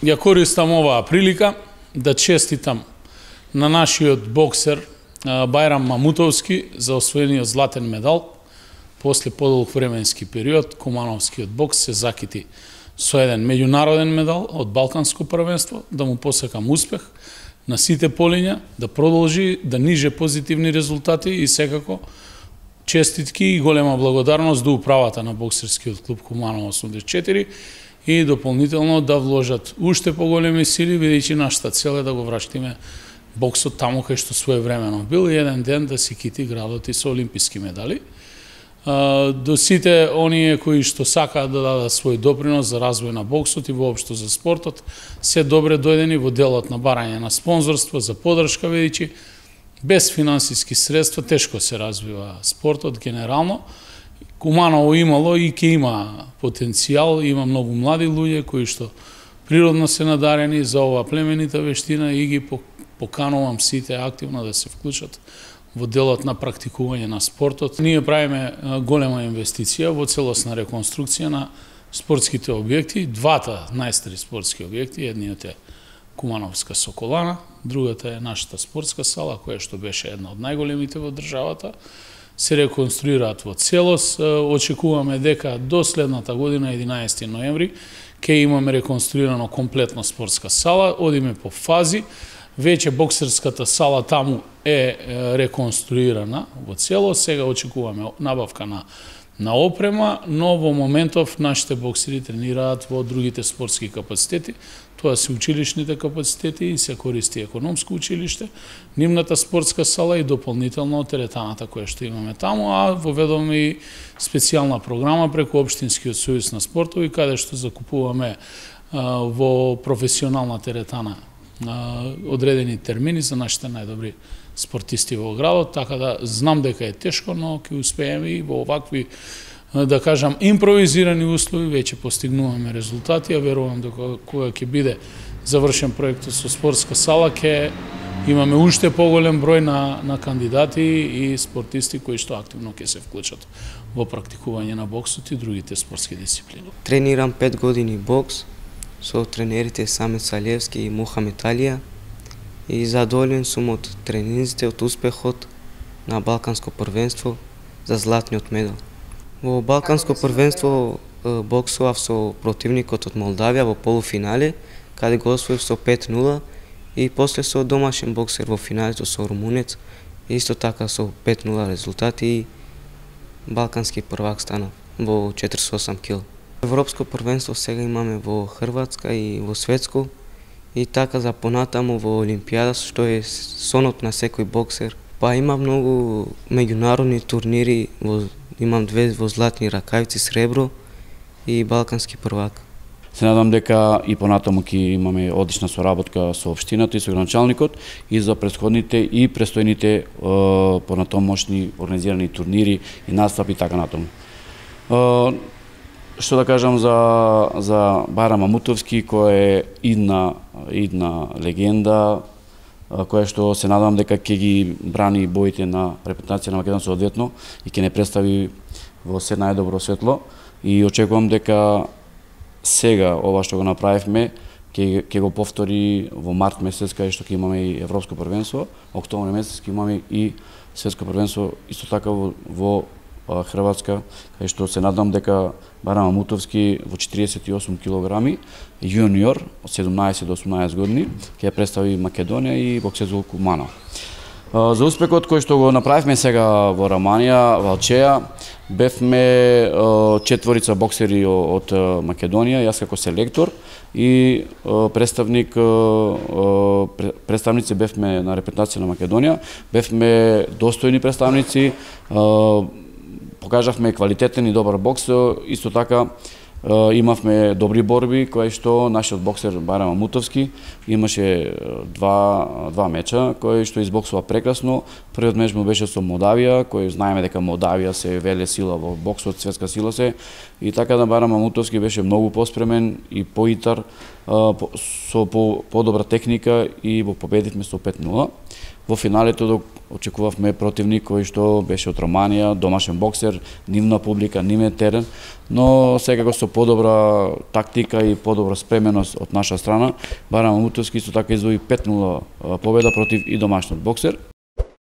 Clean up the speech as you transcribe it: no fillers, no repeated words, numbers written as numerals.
ја користам оваа прилика да честитам на нашиот боксер Бајрам Мамутовски за освоениот златен медал. После подолг временски период, кумановскиот бокс се закити со еден меѓународен медал од Балканско првенство, да му посакам успех на сите полиња, да продолжи да ниже позитивни резултати и секако честитки и голема благодарност до управата на боксерскиот клуб Куманово 84 и дополнително да вложат уште поголеми сили, бидејќи нашата цел е да го враќаме боксот таму кај што своевремено бил и еден ден да си кити градот и со олимписки медали. До сите оние кои што сакаат да дадат свој допринос за развој на боксот и воопшто за спортот, се добре дојдени во делот на барање на спонзорство, за поддршка, бидејќи без финансиски средства тешко се развива спортот генерално. Куманово имало и ќе има потенцијал, има многу млади луѓе кои што природно се надарени за оваа племенита вештина и ги поканувам сите активно да се вклучат во делот на практикување на спортот. Ние правиме голема инвестиција во целосна реконструкција на спортските објекти, двата најстари спортски објекти, едниот е Кумановска Соколана, другата е нашата спортска сала, која што беше една од најголемите во државата. Се реконструираат во целост. Очекуваме дека до следната година, 11 ноември, ќе имаме реконструирано комплетно спортска сала, одиме по фази. Веќе боксерската сала таму е реконструирана во целост, сега очекуваме набавка на опрема, но во моментов нашите боксери тренираат во другите спортски капацитети. Тоа се училишните капацитети и се користи економско училиште, нивната спортска сала и дополнително теретаната која што имаме таму, а воведоме и специјална програма преку Општинскиот сојуз на спортови, каде што закупуваме во професионална теретана одредени термини за нашите најдобри спортисти во градот, така да знам дека е тешко, но ќе успееме и во овакви, да кажам, импровизирани услови веќе постигнуваме резултати, а верувам дека кога ќе биде завршен проектот со спортска сала, ќе имаме уште поголем број на кандидати и спортисти кои што активно ќе се вклучат во практикување на боксот и другите спортски дисциплини. Тренирам 5 години бокс со тренерите Самет Салиевски и Мухамед Алија и задоволен сум од тренинзите, од успехот на Балканско првенство за златниот медал. Во Балканско првенство боксував со противникот од Молдавија во полуфинале, каде го освоив со 5-0 и после со домашен боксер во финалето со румунец, исто така со 5-0 резултати и балкански првак станав во 48 кг. Европско првенство сега имаме во Хрватска и во Светско и така за понатаму во Олимпијада, што е сонот на секој боксер. Па има многу меѓународни турнири, имам 2 во златни ракавици, сребро и балкански првак. Се надам дека и понатаму ќе имаме одлична соработка со општината и со граначалникот и за претходните и престојните понатомошни организирани турнири и настапи така натаму. Што да кажам за Бајрам Мамутовски, кој е идна легенда, која што се надам дека ќе ги брани боите на репутација на Македонија соодветно и ќе не представи во се најдобро светло. И очекувам дека сега ова што го направивме ќе го повтори во март месец, кај што ќе имаме и Европско првенство, октомври месец ќе имаме и светско првенство исто така во Хрватска, кај што се надам дека Бајрам Мамутовски во 48 килограми, јуниор од 17 до 18 години, ќе представи Македонија и боксерот Куманово. За успехот кој што го направивме сега во Романија, Валчеја, бевме 4 боксери од Македонија, јас како селектор и представници бевме на репрезентација на Македонија, бевме достојни представници, покажавме квалитетен и добар бокс, исто така имавме добри борби, кои што нашиот боксер Бајрам Мамутовски имаше два меча, кои што избоксува прекрасно. Првиот меч му беше со Молдавија, кој знаеме дека Молдавија се веле сила во боксот, светска сила се, и така да Бајрам Мамутовски беше многу поспремен и поитар со подобра техника и го победивме со 5-0. Во финалето очекувавме противник кој што беше од Романија, домашен боксер, нивна публика, нивен терен, но секако со подобра тактика и подобра спременост од наша страна, Байрам Мамутовски исто така извои 5-0 победа против и домашниот боксер.